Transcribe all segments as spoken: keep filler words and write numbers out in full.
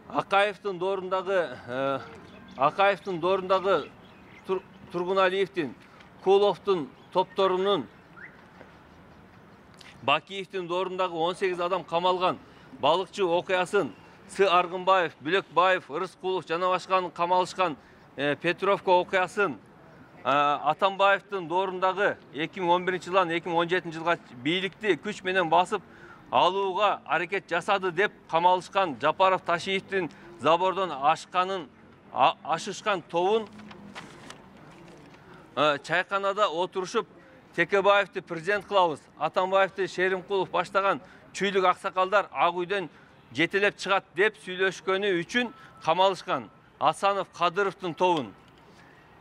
Акаевдин доорундагы Акаевдин доорундагы Тургуналиевдин, Куловдун топторунун, Бакиевдин доорундагы он сегиз адам камалган балыкчы окуясын С. Аргынбаев, Бүлөкбаев, Рыскулов жана башканын камалышкан Петровка окуясын Атамбаевдин доорундагы эки миң он биринчи жылдан эки миң он жетинчи жылга бийликти күч менен басып алууга аракет жасады деп камалышкан Жапаров Ташиевдин забордон ашканын ашышкан тобун чайканада отурушуп Текебаевди президент кылабыз, Атамбаевди Шеримкулов баштаган чүйлүк аксакалдар Ак үйдөн жетелеп чыгат деп сүйлөшкөнү үчүн камалышкан Асанов Кадыровдун тобун.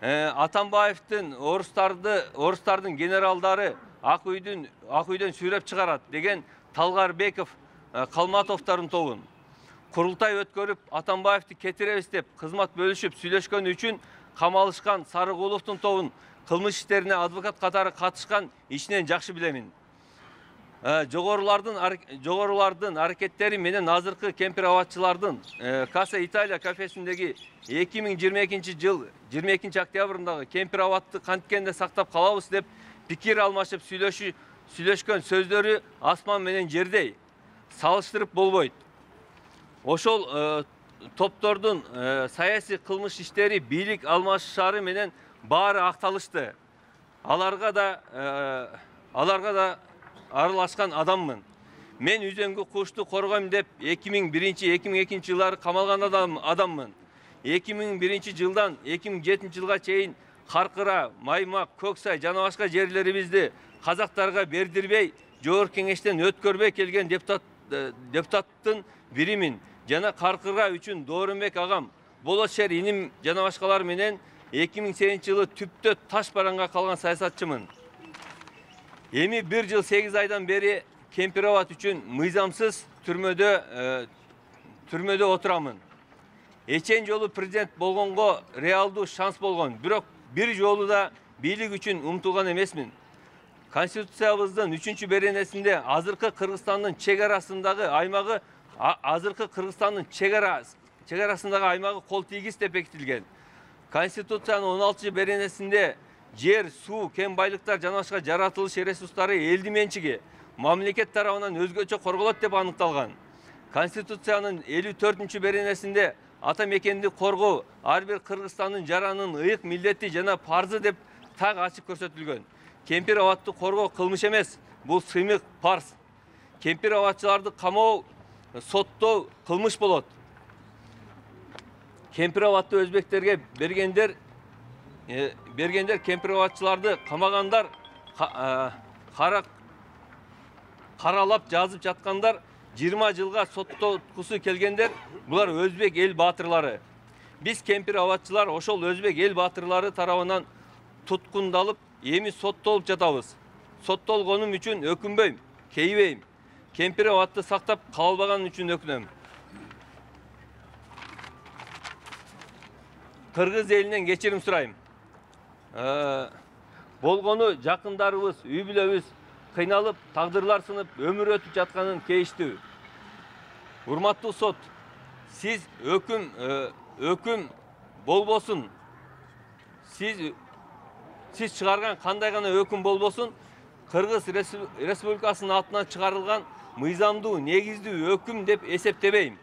Атамбаевдин орустарды орустардын генералдары Ак үйдөн Ак үйдөн сүйрөп чыгарат деген Талгарбеков Калматовдордун тобун. Курултай өткөрүп Атамбаевди кетиребиз деп кызмат бөлүшүп сүйлөшкөнү үчүн камалышкан Сарыгуловдун тобун. Кылмыш иштерине адвокат катары катышкан ичинен жакшы билемин. Жогорулардын жогорулардын аракеттери менен азыркы кемпир абатчылардын Каса Италия кафесиндеги эки миң жыйырма экинчи жыл жыйырма экинчи октябрындагы кемпир абатты канткенде сактап калабыз деп пикир алмашып сүйлөшү сүйлөшкөн сөздөрү асман менен жердей. Салыштырып болбойт. Ошол топтордун саясий кылмыш иштери бийлик алмашышары менен баары акталышты. Аларга да аларга да аралашкан адаммын. Мен үзөңгү кушту коргойм деп эки миң биринчи эки миң экинчи жылдары камалган адам адаммын. эки миң биринчи жылдан эки миң жетинчи жылга чейин Каркыра, Маймак, Көксай жана башка жерлерибизди казактарга бердирбей, жогорку кеңештен өткөрбөй келген депутат депутаттын биримин. Жана Каркыра үчүн Доорунбек агам, Болот шер иним жана башкалар менен эки миң сегизинчи жылы түптө таш бараңга калган саясатчымын. Эми бир жыл сегиз айдан бери кемпир абат үчүн мыйзамсыз түрмөдө түрмөдө отурамын. Эчен жолу президент болгонго реалдуу шанс болгон, бирок бир жолу да бийлик үчүн умтулган эмесмин. Конституциябыздын үчүнчү беренесинде азыркы Кыргызстандын чек арасындагы аймагы азыркы Кыргызстандын чек арасындагы аймагы кол тийгиз деп бекитилген. Конституциянын он алтынчы беренесинде жер, суу, кен байлыктар жана башка жаратылыш ресурстары элди менчиги мамлекет тарабынан өзгөчө корголот деп аныкталган. Конституциянын элүү төртүнчү беренесинде ата мекенди коргоо ар бир Кыргызстандын жаранын ыйык милдети жана парзы деп так ачык көрсөтүлгөн. Кемпир абатты коргоо кылмыш эмес, бул сыймык парз. Кемпир абатчыларды камоо, соттоо кылмыш болот. Кемпир абатты өзбектерге бергендер бергендер кемпир абатчыларды камагандар, кара каралап жазып жаткандар, жыйырма жылга соттоткусу келгендер, булар өзбек эл баатырлары. Биз кемпир абатчылар ошол өзбек эл баатырлары тарабынан туткундалып, эми соттолуп жатабыз. Соттолгонум үчүн өкүнбөйм, кейбейм. Кемпир абатты сактап кала албаган үчүн өкүнөм. Кыргыз элинен кечирим сурайм. Болгону жакындарыбыз, үй бүлөбүз кыйналып, тагдырлар сынып, өмүр өтүп жатканын кейиштүү. Урматтуу сот, сиз өкүм өкүм болбосун. Сиз сиз чыгарган кандай гана өкүм болбосун, Кыргыз Республикасынын атынан чыгарылган мыйзамдуу, негиздүү өкүм деп эсептебейм.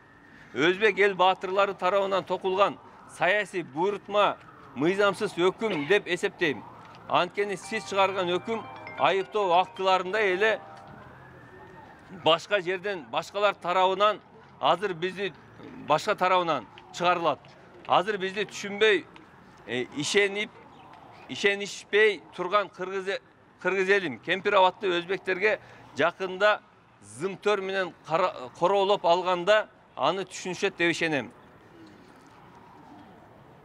Өзбек эл баатырлары тарабынан токулган саясий буйрутма мыйзамсыз өкүм деп эсептейм. Анткени сиз чыгарган өкүм айыптоо актыларында эле башка жерден, башкалар тарабынан, азыр бизди башка тарабынан чыгарылат. Азыр бизди түшүнбөй, ишенип, ишенишпей турган Кыргыз Кыргыз элим кемпир абатты өзбектерге жакында зымтөр менен короолоп алганда аны түшүнүшөт деп ишенем.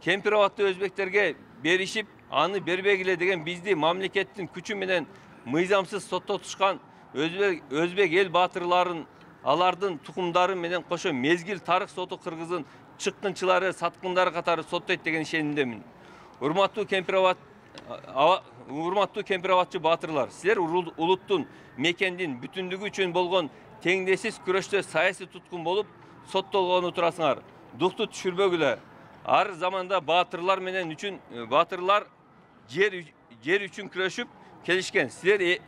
Кемпир абатты өзбектерге беришип, аны бербегиле деген бизди мамлекеттин күчү менен мыйзамсыз соттотушкан өзбек эл баатырларын, алардын тукумдары менен кошо мезгил тарых соту Кыргыздын чыккынчылары, саткындары катары соттойт деген ишенимдемин. Урматтуу кемпир абат урматтуу кемпир абатчы баатырлар, силер улуттун, мекендин бүтүндүгү үчүн болгон теңдешсиз күрөштө саясий туткун болуп соттолгону турасыңар. дукту түшүрбөгүлө. Ар заманда баатырлар менен үчүн баатырлар жер жер үчүн күрөшүп келишкен. Силер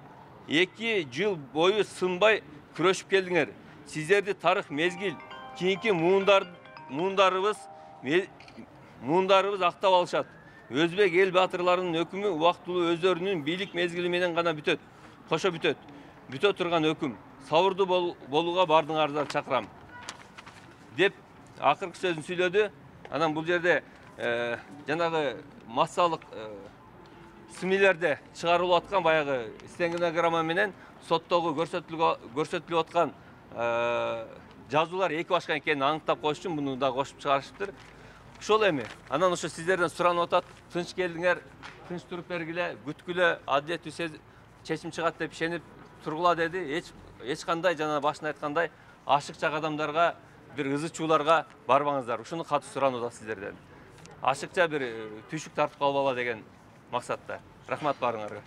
эки жыл бою сынбай күрөшүп келдиңер. Сиздерди тарых мезгил кийинки муундар муундарыбыз муундарыбыз актап алышат. Өзбек эл баатырларынын өкүмү убактылуу өздөрүнүн бийлик мезгили менен гана бүтөт. Кошо бүтөт. Бүтө турган өкүм. Сабырдуу болууга бардыңарды чакырам деп акыркы сөзүн сүйлөдү. Анан бул жерде жанагы массалык СМИлерде чыгарылып аткан баягы стенограмма менен соттогу көрсөтүлүп аткан жазуулар эки башка экенин аныктап коюш үчүн муну да кошуп чыгарышыптыр. Ошол эми анан ошо сиздерден суранып атат. Тынч келдиңер, тынч туруп бергиле, күткүлө, адилеттүү чечим чыгат деп ишенип тургула деди. Эч эч кандай жана башында айткандай ашыкча кадамдарга, бир ызы чууларга барбаңыздар. Ушуну катуу суранып атат сиздерден. Ашыкча бир түйшүк тартып калбала деген максатта. Рахмат баарыңарга.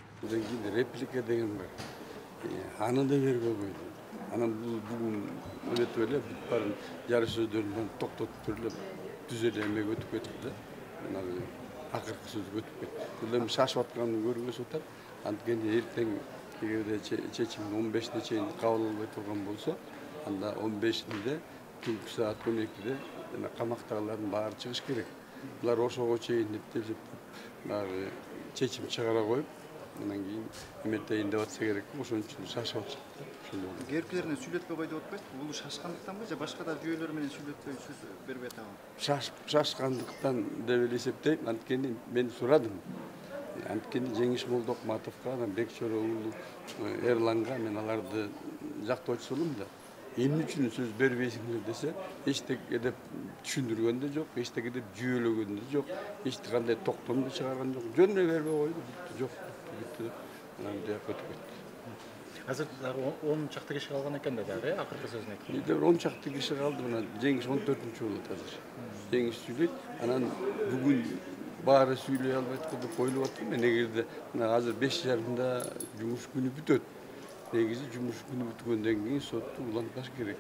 Реплика деген бар. Аны да бербей койду. Анан бул бүгүн өтүп эле бүт баарын жары сөздөрүн токтотуп туруп түз эле эмеге өтүп кетти да. Жанагы акыркы сөзгө өтүп кетти. Бул эми шашып атканын көргөзүп атат. Анткени эртең эгерде чечим он бешине чейин кабыл албай турган болсо, анда он бешинде түнкү саат он экиде жана камактагылардын баары чыгыш керек. Булар ошого чейин деп баягы чечим чыгара коюп, анан кийин эметейин деп атса керек. Ошон үчүн шашып атышат. Керпилерин сүйлөтпөй койду деп атпайсызбы? Бул шашкандыктанбы же башка да жүйөлөр менен сүйлөтпөй сөз бербей атабы? Шашып шашкандыктан деп эле эсептейм. Анткени мен сурадым. Анткени Жеңиш Молдокматовго, анан Бекчор уулу Эрланга мен аларды жактоочусу болом да. Эмне үчүн сөз бербейсиңер десе, эчтеке деп түшүндүргөн да жок, эчтеке деп жүйөлөгөн да жок, эч кандай токтом да чыгарган жок. Жөн эле бербей койду, жок бүттү деп анан деп өтүп кетти. Азыр дагы он чакты киши калган экен да дагы, акыркы сөзүн айтты. Бизде он чакты киши калды, мына Жеңиш он төртүнчү болот азыр. Жеңиш сүйлөйт, анан бүгүн баары сүйлөй албайт деп коюлуп атты. Мен эгерде мына азыр беш жарымда жумуш күнү бүтөт. Негизи жумуш күнү бүткөндөн кийин сотту улантпаш керек.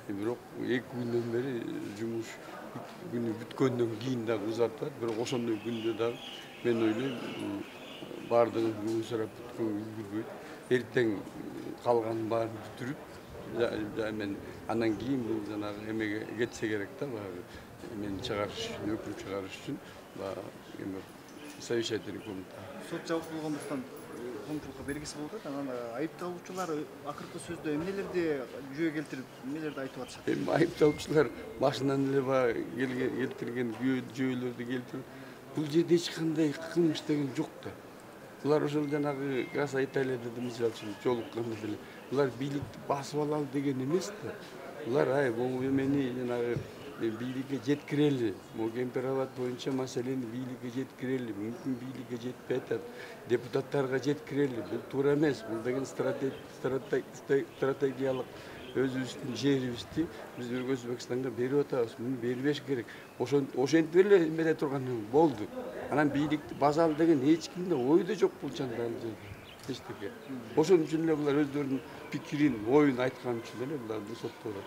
Бирок эки күндөн бери жумуш күнү бүткөндөн кийин дагы узартат. Бирок ошондой күндө дагы мен ойлойм баардыгын бүгүн сурап бүткөн үлгүрбөйт. Эртең калганын баарын бүтүрүп, мен андан кийин бул жанагы эмеге кетсе керек да, баягы мен чыгарыш үчүн, өкүм чыгарыш үчүн эме совещательный комната. Сот жабык болгондуктан коомчулукка бергиси болуп атат. Анан айыпталуучулар акыркы сөздө эмнелерди жүйө келтирип, эмнелерди айтып атышат? Эми айыпталуучулар башынан эле баягы келтирген жүйөлөрдү келтирип, бул жерде эч кандай кылмыш деген жок да. Булар ошол жанагы Каса Италияда да мисалы үчүн жолукканда деле булар бийликти басып алалы деген эмес да. Булар ай бул эмени жанагы бийликке жеткирели, могу Кемпир-Абад боюнча маселени бийликке жеткирели, мүмкүн бийликке жетпей атат, депутаттарга жеткирели. Бул туура эмес. Бул деген стратегиялык өзүбүздүн жерибизди биз Өзбекстанга берип атабыз. Муну бербеш керек. Ошентип эле эмеде турган болду. Анан бийликти базалы деген эч кимде ойдо жок бул чанда ал жерде. Эчтеке. Ошон үчүн эле булар өздөрүнүн пикирин, оюн айткан үчүн эле буларды соттоп атат.